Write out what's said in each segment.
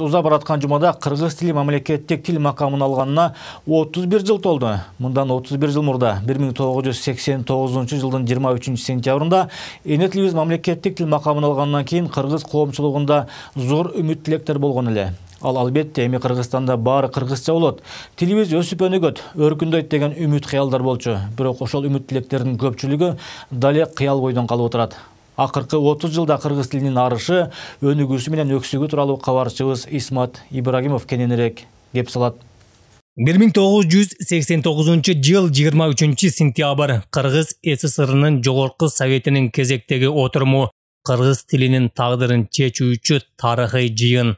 уза бараткан жумада кыргыз тили мамлекеттик тил макамын алганына 31 жыл толду. Мындан 31 жыл мурда 1989 жылдын 23 сентябрында эне тилибиз мамлекеттик тил макамын алгандан кийин кыргыз коомчулугунда зор үмүт тилектер болгон эле. Ал албетте эми Кыргызстанда баары кыргызча болот. Тилибиз өсүп өнүгөт, өркүндөйт деген үмүт кыялдар болчу. Бирок ошол үмүт тилектердин көпчүлүгү дале кыял бойдон калып отурат. Акыркы 30 жылда кыргыз тилинин арышы, өнүгүүсү менен өксүгү тууралуу кабарчыбыз Исмат Ибрагимов кененирээк кеп салат. 1989 жыл 23 сентябрь Кыргыз СССРынын жогорку советинин кезектеги отуруму кыргыз тилинин тагдырын чечүүчү тарыхый жыйын.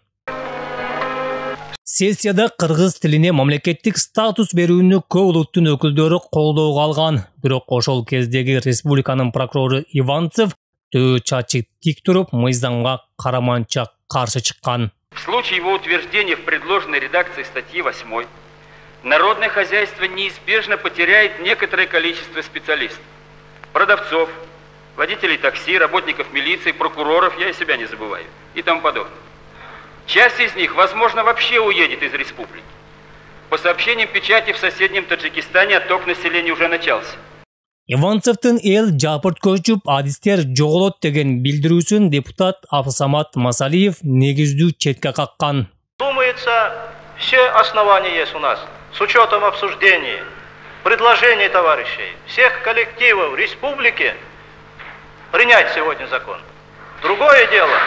Сессияда кыргыз тилине мамлекеттик статус берүүнү көп улуттун өкүлдөрү колдоого алган. Бирок ошол кездеги республиканын прокурору Иванцев төө чачы тик туруп, мыйзамга караманча каршы чыккан. В случае его утверждения в предложенной редакции статьи 8 народное хозяйство неизбежно потеряет некоторое количество специалистов, продавцов, водителей такси, работников милиции, прокуроров, я и себя не забываю, и тому подобное. Часть из них, возможно, вообще уедет из республики. По сообщениям печати, в соседнем Таджикистане отток населения уже начался. Иванцевдин эл жапырт көчүп, адистер жоголот деген билдирүүсүн депутат Абсамат Масалиев негиздүү четке каккан. Думается, все основания есть у нас, с учетом обсуждений, предложений товарищей, всех коллективов республики, принять сегодня закон. Другое дело.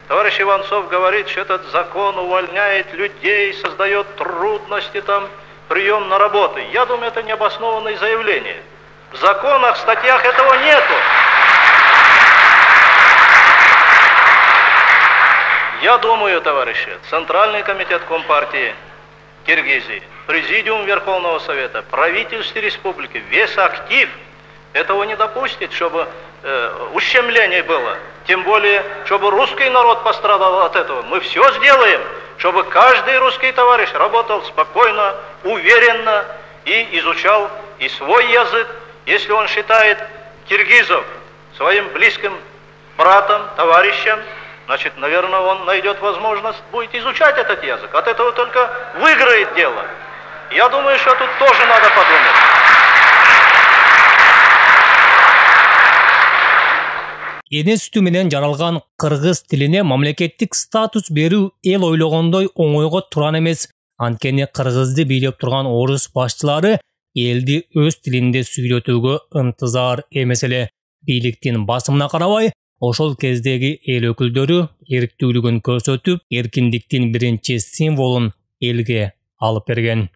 Товарищ Иванцов говорит, что этот закон увольняет людей, создает трудности, там, прием на работу. Я думаю, это необоснованное заявление. В законах, статьях этого нету. Я думаю, товарищи, Центральный комитет Компартии Киргизии, Президиум Верховного Совета, правительство республики, весь актив этого не допустит, чтобы ущемление было. Тем более, чтобы русский народ пострадал от этого. Мы все сделаем, чтобы каждый русский товарищ работал спокойно, уверенно и изучал и свой язык. Если он считает киргизов своим близким братом, товарищем, значит, наверное, он найдет возможность будет изучать этот язык. От этого только выиграет дело. Я думаю, что тут тоже надо подумать. Эне сүтү менен жаралган кыргыз тилине мамлекеттик статус берүү эл ойлогондой оңойго туран эмес. Анткени кыргызды бийлеп турган орус башчылары элди өз тилинде сүйлөтүүгө ынтызар эмес эле. Бийликтин басымына карабай, ошол кездеги эл өкүлдөрү эрктүүлүгүн көрсөтүп, эркиндиктин биринчи символун элге алып берген.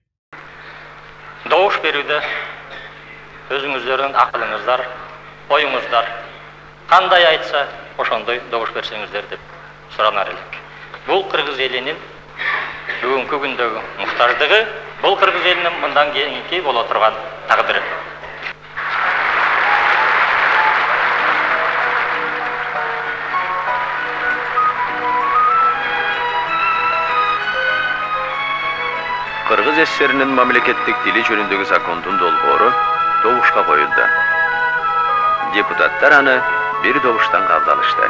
Добуш берүүдө өзүңүздөрдүн акылыңыздар, оюңуздар кандай айтса, ошондой добуш берсеңиздер деп суранар элек. Бул кыргыз элинин бүгүнкү күндөгү муктаждыгы, бул кыргыз элинин мындан кийинки боло турган тагдыры. Кыргыз СССРинин мамлекеттик тили жөнүндөгү закондун долбоору добушка коюлду. Депутаттар аны бир добуштан кабыл алышты.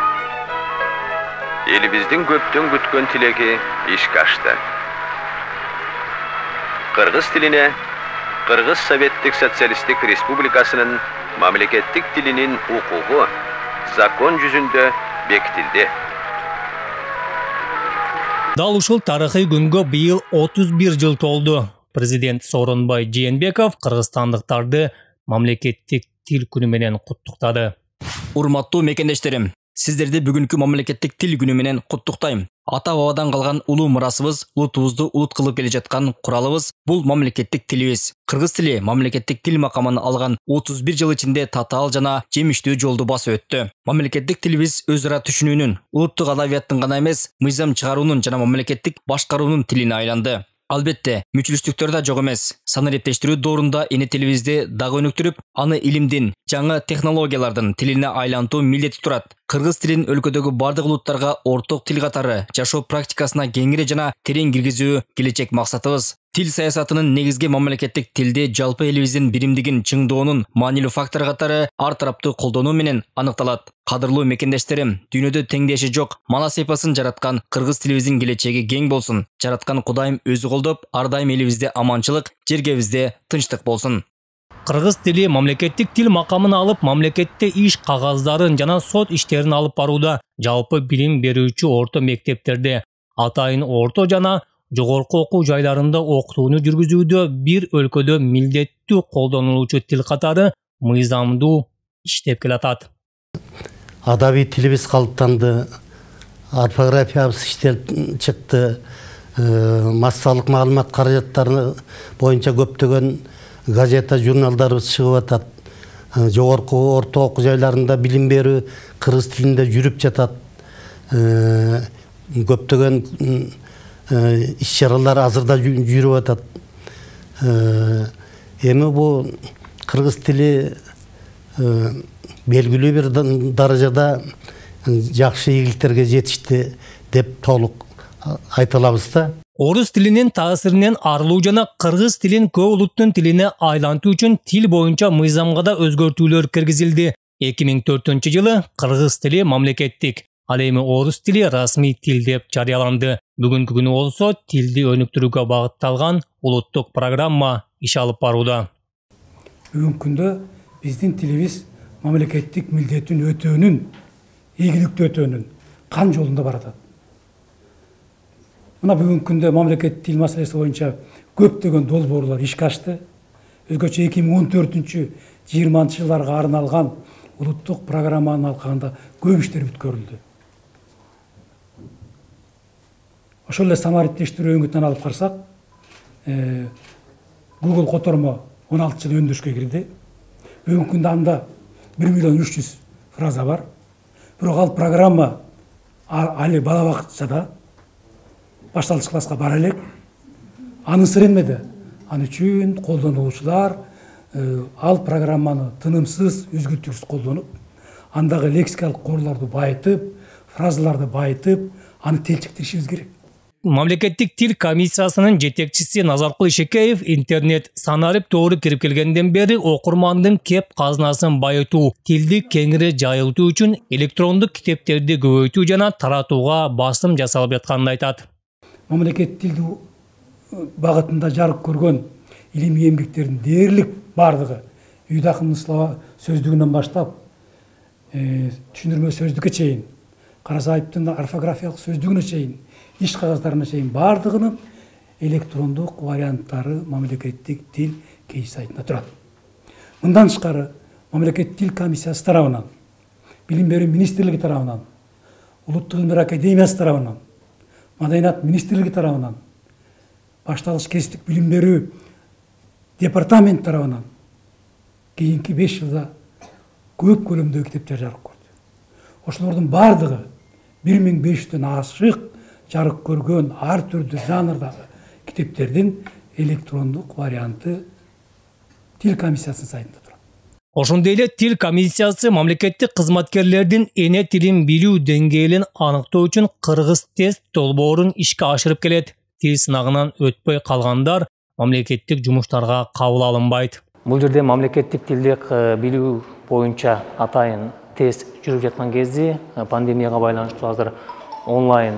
Элибиздин көптөн күткөн тилеги ишке ашты. Кыргыз тилине Кыргыз Советтик Социалисттик Республикасынын мамлекеттик тилинин укугу закон жүзүндө бекитилди. Дал ушул тарыхый күнгө быйыл 31 жыл толду. Президент Сооронбай Жээнбеков кыргызстандыктарды мамлекеттик тил күнү менен куттуктады. Урматтуу мекендештерим, сиздерди бүгүнкү мамлекеттик тил күнү менен куттуктайм. Ата-бабадан калган улуу мурасыбыз, улутубузду улут кылып келе жаткан куралыбыз бул мамлекеттик тилибиз. Кыргыз тили мамлекеттик тил макамын алган 31 жыл ичинде татаал жана жемиштүү жолду басып өттү. Мамлекеттик тилибиз өз ара түшүнүүнүн, улуттук адабияттын гана эмес, мыйзам чыгаруунун жана мамлекеттик башкаруунун тилине айланды. Албетте, мүчүлүштүктөр да жок эмес. Сан эрептештирүү доорунда эне тилибизди дагы өнүктүрүп, аны илимдин, жаңы технологиялардын тилине айлантуу милдети турат. Кыргыз тилин өлкөдөгү бардык улуттарга орток тил катары жашоо практикасына кеңири жана терең киргизүү келечек максатыбыз. Тил саясатынын негизги мамлекеттик тилде жалпы элибиздин биримдигин чыңдоонун маанилүү фактор катары ар тараптуу колдонуу менен аныкталат. Кадырлуу мекендештерим, дүйнөдө теңдеши жок манас эпосун жараткан кыргыз тилибиздин келечеги кең болсун. Жараткан Кудайым өзү колдоп, ар дайым элибизде аманчылык, жергебизде тынчтык болсун. Кыргыз тили мамлекеттик тил макамын алып, мамлекетте иш кагаздарын жана сот иштерин алып барууда. Жалпы билим берүүчү орто мектептерде, атайын орто жана жогорку окуу жайларында окутууну жүргүзүүдө бир өлкөдө милдеттүү колдонулуучу тил катары мыйзамдуу иштеп келатат. Адабий тилибиз калыптанды, орфографиябыз иштелип чыкты, массалык маалымат каражаттары боюнча көптөгөн газета, журналдарыбыз чыгып атат. Жогорку орто окуу жайларында билим берүү кыргыз тилинде жүрүп жатат. Көптөгөн иш-чаралар азырда жүрүп атат. Эми бул кыргыз тили белгилүү бир даражада жакшы ийгиликтерге жетишти деп толук айта алабыз да. Орус тилинин таасиринен арылуу жана кыргыз тилин көп улуттун тилине айлантуу үчүн тил боюнча мыйзамга да өзгөртүүлөр киргизилди. 2004-жылы кыргыз тили мамлекеттик, ал эми орус тили расмий тил деп жарыяланды. Бүгүнкү күнү болсо тилди өнүктүрүүгө багытталган улуттук программа иш алып барууда. Бүгүнкү күндө биздин тилибиз мамлекеттик милдетин өтөөнүн, ийгиликтүү өтөөнүн кан жолунда баратат. Мына бүгүнкү күндө мамлекеттик тил маселеси боюнча көптөгөн долбоорлор ишке ашты. Өзгөчө 2014-20 жылдарга арналган улуттук программанын алкагында көп иштер бүткөрүлдү. Ошол эле самариттештирүү өңүтүнөн алып карасак, Google котормо 16 жыл өндүрүшкө кирди. Бүгүнкү күндө анда 1.300.000 фраза бар. Бирок ал программа али бала бакчада башталгыч класска бара элек. Анын сыры эмеде? Аны үчүн колдонуучулар ал программаны тынымсыз, үзгүлтүксүз колдонуп, андагы лексикалык корлорду байытып, фразаларды байытып, аны телчиктиришибиз керек. Мамлекеттик тил комиссиясынын жетекчиси Назаркул Ишекеев интернет санарип тоору кирип келгенден бери окурмандын кеп казынасын байытуу, тилди кеңири жайылтуу үчүн электрондук китептерди көбөйтүү жана таратууга басым жасалып жатканын айтат. Мамлекеттик тилди багытында жарык көргөн илимий эмгектердин дээрлик бардыгы Үйдө акындын слова сөздүгүнөн баштап түшүндүрмө сөздүккө чейин, Карасаевдин орфографиялык сөздүгүнө чейин, иш кагаздарына чейин бардыгынын электрондук варианттары мамлекеттик тил кейс сайтында турат. Мындан тышкары мамлекеттик тил комиссиясы тарабынан, билим берүү министрлиги тарабынан, улуттук илимдер академиясы тарабынан, маданият министрлиги тарабынан, башталгыч кесиптик билим берүү департамент тарабынан кийинки 5 жылда көп көлөмдөгү китептер жарык көрдү. Ошолордун бардыгы 1500дөн ашык жарык көргөн ар түрдүү жанрдагы китептердин электрондук варианты тил комиссиясынын сайтында турат. Ошондой эле тил комиссиясы мамлекеттик кызматкерлердин эне тилин билүү деңгээлин аныктоо үчүн кыргыз тест долбоорун ишке ашырып келет. Тил сынагынан өтпөй калгандар мамлекеттик жумуштарга кабыл алынбайт. Бул жерде мамлекеттик тилди билүү боюнча атайын тест жүрүп жаткан кезде пандемияга байланыштуу азыр онлайн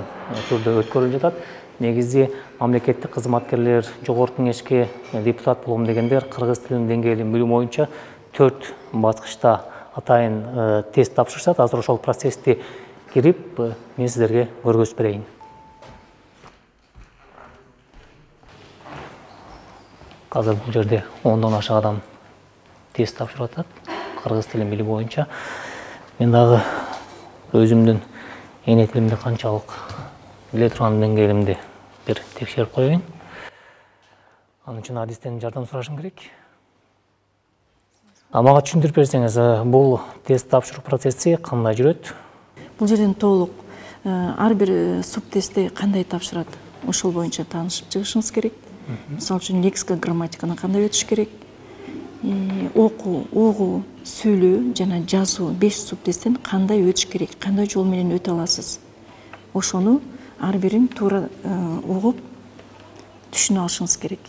түрдө өткөрүлүп жатат. Негизи мамлекеттик кызматкерлер, жогорку кеңешке депутат болом дегендер кыргыз тилинин деңгээлин билүү боюнча 4 баскычта атайын тест тапшырышат. Азыр ошол процессти кирип, мен сиздерге көргөзүп берейин. Азыр бул жерде 10дон ашык адам тест тапшырып атат кыргыз тилин билүү боюнча. Мен дагы өзүмдүн эне тилимди канчалык биле турган деңгээлимди бир текшерип коеюн. Анын үчүн адистен жардам сурашым керек. Мага түшүндүрүп берсеңиз, бул тест тапшыруу процесси кандай жүрөт? Бул жерден толук ар бир субтестти кандай тапшырат, ошол боюнча таанышып чыгышыңыз керек. Мисалы үчүн лексика, грамматиканы кандай өтүш керек? Окуу, угуу, сүйлөө жана жазуу 5 субтесттен кандай өтүш керек, кандай жол менен өтө аласыз? Ошону ар бирин туура угуп, түшүнө алышыңыз керек.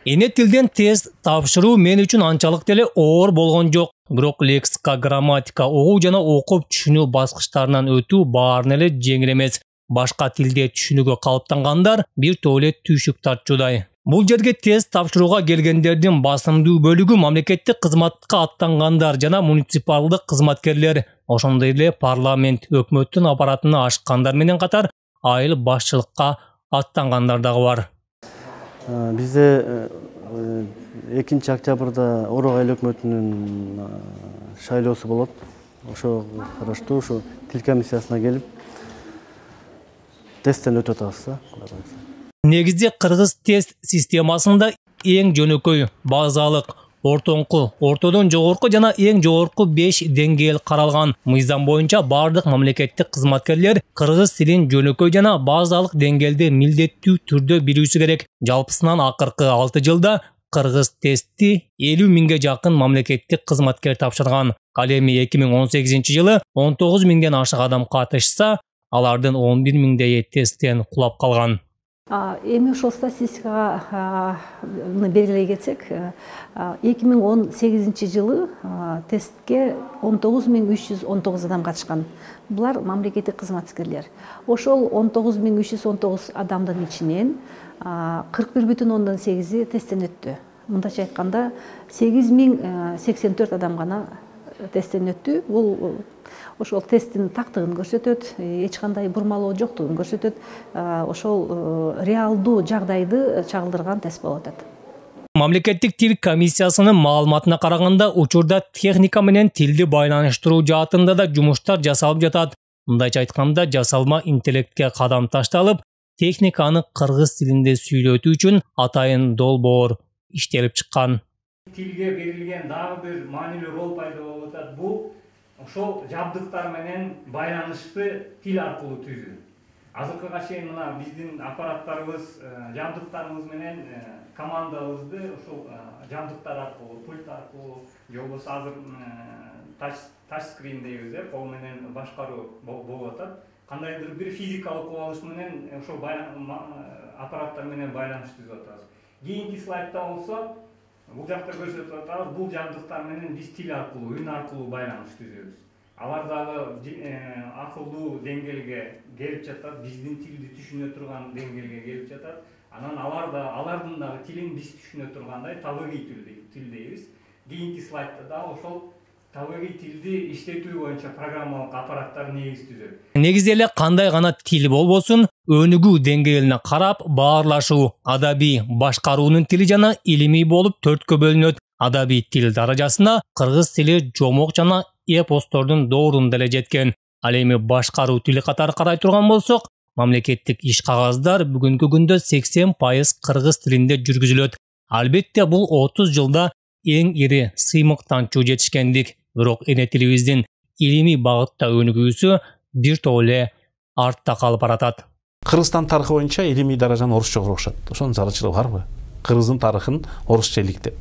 Эне тилден тест тапшыруу мен үчүн анчалык деле оор болгон жок. Бирок лексика, грамматика, угуу жана окуп түшүнүү баскычтарынан өтүү баарын эле жеңил эмес. Башка тилде түшүнүүгө калыптангандар бир топ эле түйшүк тартчудай. Бул жерге тест тапшырууга келгендердин басымдуу бөлүгү мамлекеттик кызматка аттангандар жана муниципалдык кызматкерлер, ошондой эле парламент, өкмөттүн аппаратына ашкандар менен катар айыл башчылыкка аттангандар дагы бар. Бизде 2 октябрда Орок айыл өкмөтүнүн шайлоосу болот. Ошого караштуу ушу тил комиссиясына келип тесттен өтүп атабыз. Негизде кыргыз тест системасында эң жөнөкөй, базалык, ортоңку, ортодон жогорку жана эң жогорку 5 деңгээл каралган. Мыйзам боюнча бардык мамлекеттик кызматкерлер кыргыз тилин жөнөкөй жана базалык деңгээлде милдеттүү түрдө билүүсү керек. Жалпысынан акыркы 6 жылда кыргыз тестти 50 миңге жакын мамлекеттик кызматкер тапшырган. Ал эми 2018-жылы 19 миңден ашык адам катышса, алардын 11 миңдейи тесттен кулап калган. Эми ошол статистикага белгилей кетсек, 2018-жылы тестке 19.319 адам катышкан. Булар мамлекеттик кызматкерлер. Ошол 19.319 адамдын ичинен 41,8 тесттен өттү. Мындайча айтканда 8.084 адам гана тесттен өттү. Бул ошол тесттин тактыгын көрсөтөт, эч кандай бурмалоо жоктугун көрсөтөт. Ошол реалдуу жагдайды чагылдырган тест болуп атат. Мамлекеттик тил комиссиясынын маалыматына караганда, учурда техника менен тилди байланыштыруу жаатында да жумуштар жасалып жатат. Мындайча айтканда, жасалма интеллектке кадам ташталып, техниканы кыргыз тилинде сүйлөтүү үчүн атайын долбоор иштелип чыккан. Тилге берилген дагы бир маанилүү рол пайда болуп атат. Бул ошол жабдыктар менен байланышты тил аркылуу түзүү. Азыркыга чейин мына биздин аппараттарыбыз, жабдыктарыбыз менен командабызды ошол жабдыктар аркылуу, пульт аркылуу, же болбосо азыр тач скрин дейбиз, кол менен башкаруу болуп атат. Кандайдыр бир физикалык кубулуш менен ошол аппараттар менен байланыш түзүп атабыз. Кийинки слайдда болсо бул жакта көрсөтүп атабыз, бул жабдыктар менен биз тил аркылуу, үн аркылуу байланыш түзөбүз. Алар дагы акылдуу деңгээлге келип жатат, биздин тилди түшүнө турган деңгээлге келип жатат. Анан алардын дагы тилин биз түшүнө тургандай табигый тил дейбиз. Кийинки слайдда дагы ошол табигый тилди иштетүү боюнча программалык аппараттар негиз түзөт. Негизи эле кандай гана тил болбосун, өнүгүү деңгээлине карап баарлашуу, адабий, башкаруунун тили жана илимий болуп 4кө бөлүнөт. Адабий тил даражасына кыргыз тили жомок жана эпостордун доорунда эле жеткен. Ал эми башкаруу тили катары карай турган болсок, мамлекеттик иш кагаздар бүгүнкү күндө 80% кыргыз тилинде жүргүзүлөт. Албетте бул 30 жылда эң ири сыймыктанчу жетишкендик. Бирок эне тилибиздин илимий багытта өнүгүүсү бир топ эле артта калып баратат. Кыргызстан тарыхы боюнча илимий даражаны орусча окушат. Ошонун зарылчылыгы барбы? Кыргыздын тарыхын орусча иликтеп.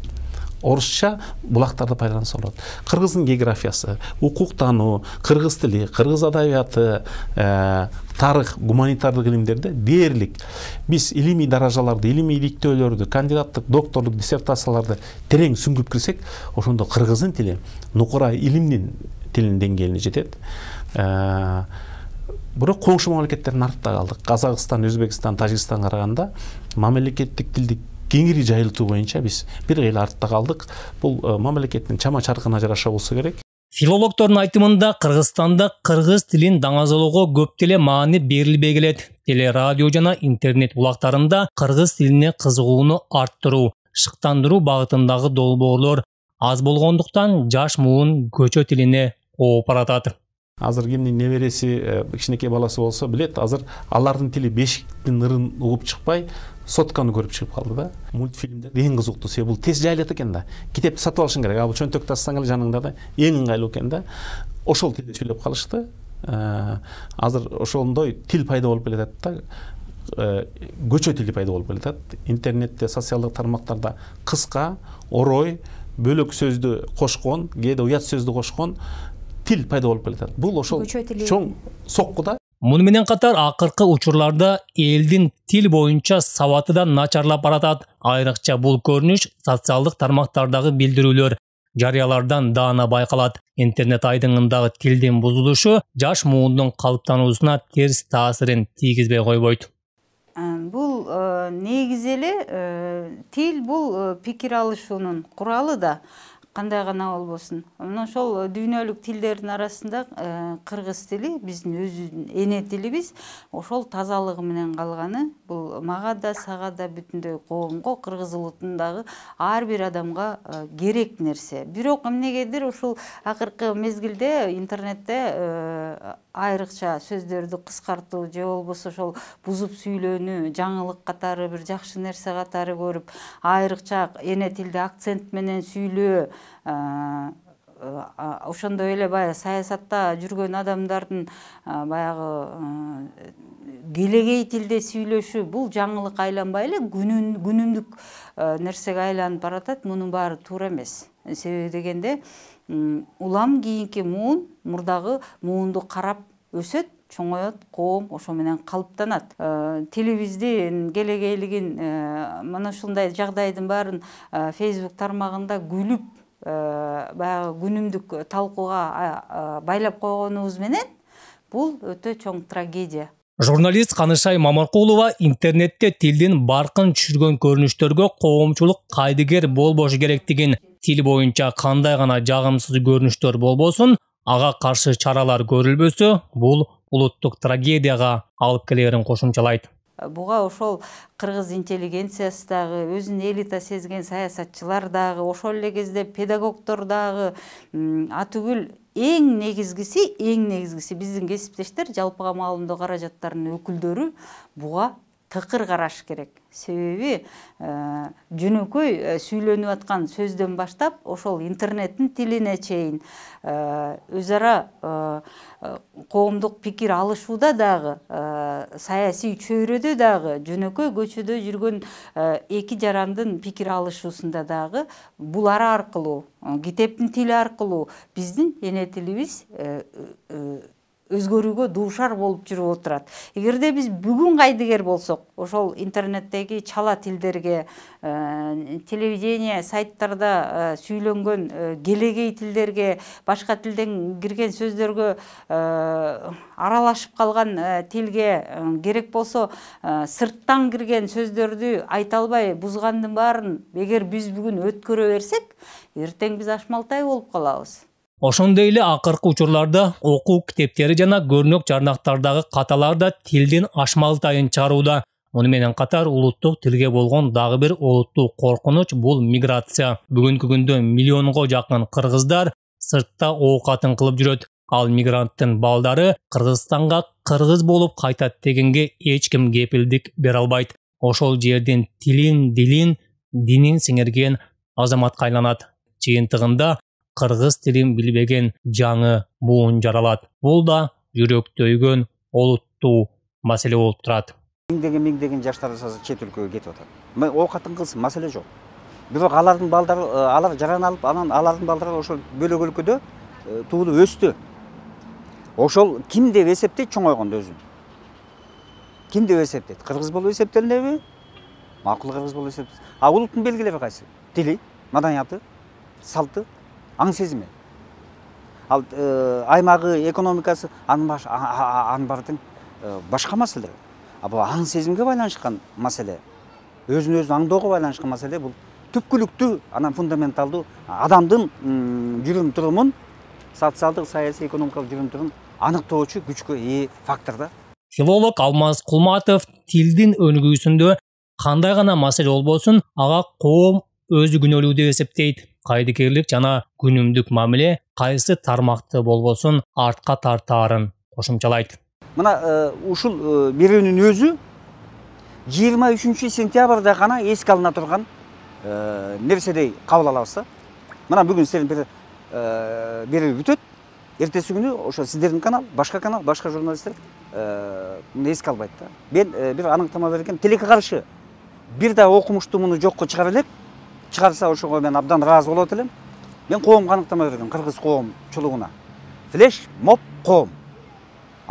Орусча булактарды пайдаланса болот. Кыргыздын географиясы, укуктануу, кыргыз тили, кыргыз адабияты, тарых, гуманитардык илимдерде дээрлик биз илимий даражаларды, илимий иликтөөлөрдү, кандидаттык, докторлук диссертацияларды терең сүңгүп кирсек, ошондо кыргыздын тили нукура илимдин тилинин деңгээлине жетет. Бирок коңшу мамлекеттердин артта калдык. Казакстан, Өзбекстан, Тажикстанга караганда мамлекеттик тилди кеңири жайылтуу боюнча биз бир эле артта калдык. Бул мамлекеттин чама чаркына жараша болсо керек. Филологдордун айтымында Кыргызстанда кыргыз тилин даңазалоого көп деле маани берилбей келет. Телерадио жана интернет булактарында кыргыз тилине кызыгууну арттыруу, шыктандыруу багытындагы долбоорлор аз болгондуктан жаш муун көчө тилине ооп баратат. Азыр кимдин небереси, кичинекей баласы болсо билет, азыр алардын тили бешиктин ырын угуп чыкпай, сотканы көрүп чыгып калды да. Мультфильмдер эң кызыктуу себеби бул тез жайылат экен да. Китепти сатып алышың керек. Бул чөнтөктү ачсаң эле жаныңда да эң ыңгайлуу экен да. Ошол тилде сүйлөп калышты. Азыр ошондой тил пайда болуп келатат да. Көчө тили пайда болуп келатат. Интернетте, социалдык тармактарда кыска, орой, бөлөк сөздү кошкон, кээде уят сөздү кошкон тил пайда болуп келатат. Бул ошол чоң соккуда. Муну менен катар акыркы учурларда элдин тил боюнча сабаты да начарлап баратат. Айрыкча бул көрүнүш социалдык тармактардагы билдирүүлөр, жарыялардан даана байкалат. Интернет айдыңындагы тилдин бузулушу жаш муундун калыптануусуна терс таасирин тийгизбей койбойт. Бул негизи эле тил бул пикир алышуунун куралы да. Кандай гана болбосун. Мына ошол дүйнөлүк тилдердин арасында кыргыз тили биздин өзүбүздүн эне тилибиз, ошол тазалыгы менен калганы бул мага да, сага да, бүтүндөй коомго, кыргыз улутундагы ар бир адамга керек нерсе. Бирок эмнегедир ушул акыркы мезгилде интернетте айрыкча сөздөрдү кыскартуу же болбосо ошол бузуп сүйлөөнү жаңылык катары, бир жакшы нерсе катары көрүп, айрыкча эне тилде акцент менен сүйлөө, ошондой эле баягы саясатта жүргөн адамдардын баягы келегей тилде сүйлөшү, бул жаңылык айланбай эле күнүмдүк нерсеге айланып баратат. Мунун баары туура эмес. Себеби дегенде улам кийинки муун мурдагы муунду карап өсөт, чоңоет, коом ошо менен калыптанат. Тилибиздин келегейлигин мына ушундай жагдайдын баарын Facebook тармагында күлүп баягы күнүмдүк талкууга байлап койгонубуз менен бул өтө чоң трагедия. Журналист Канышай Мамаркулова интернетте тилдин баркын түшүргөн көрүнүштөргө коомчулук кайдыгер болбошу керектигин, тил боюнча кандай гана жагымсыз көрүнүштөр болбосун, ага каршы чаралар көрүлбөсө, бул улуттук трагедияга алып келерин кошумчалайт. Буга ошол кыргыз интеллигенциясы дагы, өзүн элита сезген саясатчылар дагы, ошол эле кезде педагогдор дагы, атүгүл эң негизгиси биздин кесиптештер, жалпыга маалымдоо каражаттарынын өкүлдөрү буга тыкыр караш керек. Себеби жөнөкөй сүйлөнүп аткан сөздөн баштап ошол интернеттин тилине чейин өз ара коомдук пикир алышууда дагы, саясий чөйрөдө дагы, жөнөкөй көчөдө жүргөн эки жарандын пикир алышуусунда дагы булар аркылуу, китептин тили аркылуу биздин эне тилибиз өзгөрүүгө дуушар болуп жүрүп отурат. Эгерде биз бүгүн кайдыгер болсок, ошол интернеттеги чала тилдерге, телевидение, сайттарда сүйлөнгөн келегей тилдерге, башка тилден кирген сөздөргө, аралашып калган тилге керек болсо сырттан кирген сөздөрдү айта албай бузгандын баарын эгер биз бүгүн өткөрө берсек, эртең биз ашмалтай болуп калабыз. Ошондой эле акыркы учурларда окуу китептери жана көрнөк жарнактардагы каталар да тилдин ашмалтайын чыгарууда. Муну менен катар улуттук тилге болгон дагы бир олуттуу коркунуч бул миграция. Бүгүнкү күндө миллионго жакын кыргыздар сыртта оокатын кылып жүрөт. Ал мигранттын балдары Кыргызстанга кыргыз болуп кайтат дегенге эч ким кепилдик бере албайт. Ошол жердин тилин, дилин, динин сиңирген азаматка айланат. Жыйынтыгында кыргыз тилин билбеген жаңы буун жаралат. Бул да жүрөктөйгөн олуттуу маселе болуп турат. Миңдеген жаштар чет өлкөгө кетип атат. Оокатын кылсын, маселе жок. Бирок алардын балдары, алар жаран алып, анан алардын балдары ошол бөлөк өлкөдө туулуп өстү. Ошол ким деп эсептейт чоңойгондо өзүн? Ким деп эсептейт? Кыргыз болуп эсептелинеби? Макул кыргыз болуп эсептейт. А улуттун белгилери кайсы? Тили, маданияты, салты, аң сезими. Ал аймагы, экономикасы анын баардын башка маселе. А бул аң сезимге байланышкан маселе, өзүн өзү аңдоого байланышкан маселе, бул түпкүлүктүү, анан фундаменталдуу адамдын жүрүм турумун, социалдык, саясий, экономикалык жүрүм турумун аныктоочу күчкө ээ фактор да. Филолог Алмаз Кулматов тилдин өнүгүүсүндө кандай гана маселе болбосун, ага коом өзү күнөөлүү деп эсептейт. Кайдыгерлик жана күнүмдүк мамиле кайсы тармакты болбосун артка тартаарын кошумчалайт. Мына ушул берүүнүн өзү 23 сентябрда гана эске алына турган нерседей кабыл алабыз да. Мына бүгүн сиздердин берүү бүтөт. Эртеси күнү ошо сиздердин канал, башка журналисттер эске албайт да. Мен бир аныктама берген, тилекке каршы бир да окумуштуу муну жокко чыгара элек. Чыгарса ошого мен абдан ыраазы болот элем. Мен коомго аныктама берген, кыргыз коомчулугуна. Флеш моб коом.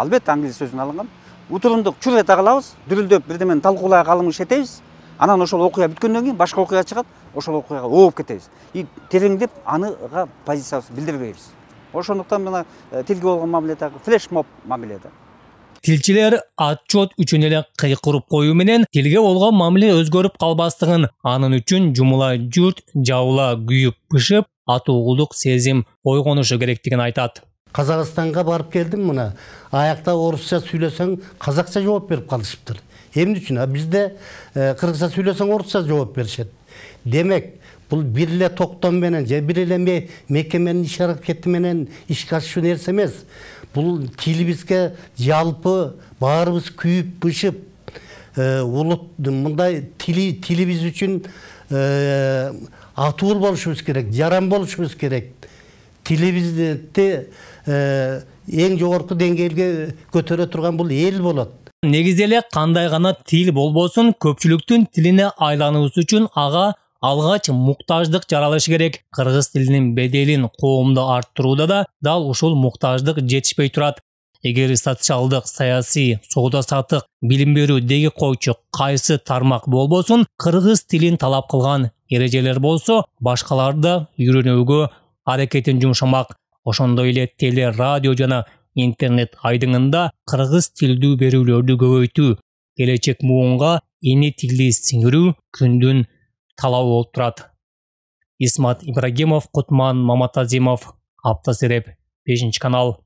албетте англис сөзүнөн алынган. Утурундук чур эте калабыз, дүрүлдөп бирдемени талкуулай калыңыш этебиз. Анан ошол окуя бүткөндөн кийин башка окуя чыгат, ошол окуяга ооп кетебиз. И тереңдеп аныга позициябызды билдирбейбиз. Ошондуктан мына тилге болгон мамиле дагы флешмоб мамиле да. Тилчилер отчет үчүн эле кыйкырып коюу менен тилге болгон мамиле өзгөрүп калбастыгын, анын үчүн жумула журт жабыла күйүп бышып, атуулук сезим ойгонушу керектигин айтат. Казакстанга барып келдим мына. Аякта орусча сүйлөсөң, казакча жооп берип калышыптыр. Эмне үчүн? Бизде кыргызча сүйлөсөң орусча жооп беришет. Демек, бул бир эле токтом менен же бир эле мекеменин иш аракети менен ишке ашуу нерсе эмес. Бул тилибизге жалпы баарыбыз күйүп бышып, улут мындай тилибиз үчүн атуул болушубуз керек, жаран болушубуз керек. Тилибизди эң жогорку деңгээлге көтөрө турган бул эл болот. Негизи эле кандай гана тил болбосун, көпчүлүктүн тилине айлануубуз үчүн ага алгач муктаждык жаралышы керек. Кыргыз тилинин беделин коомдо арттырууда да дал ушул муктаждык жетишпей турат. Эгер социалдык, саясий, соода саттык, билим берүү деги койчу кайсы тармак болбосун, кыргыз тилин талап кылган эрежелер болсо, башкалар да үйрөнүүгө аракетин жумшамак. Ошондой эле теле, радио жана интернет айдыңында кыргыз тилдүү берүүлөрдү көбөйтүү, келечек муунга эне тилди сиңирүү күндүн талабы болуп турат. Исмат Ибрагимов, Кутман Маматазимов, Аптасереп, 5 канал.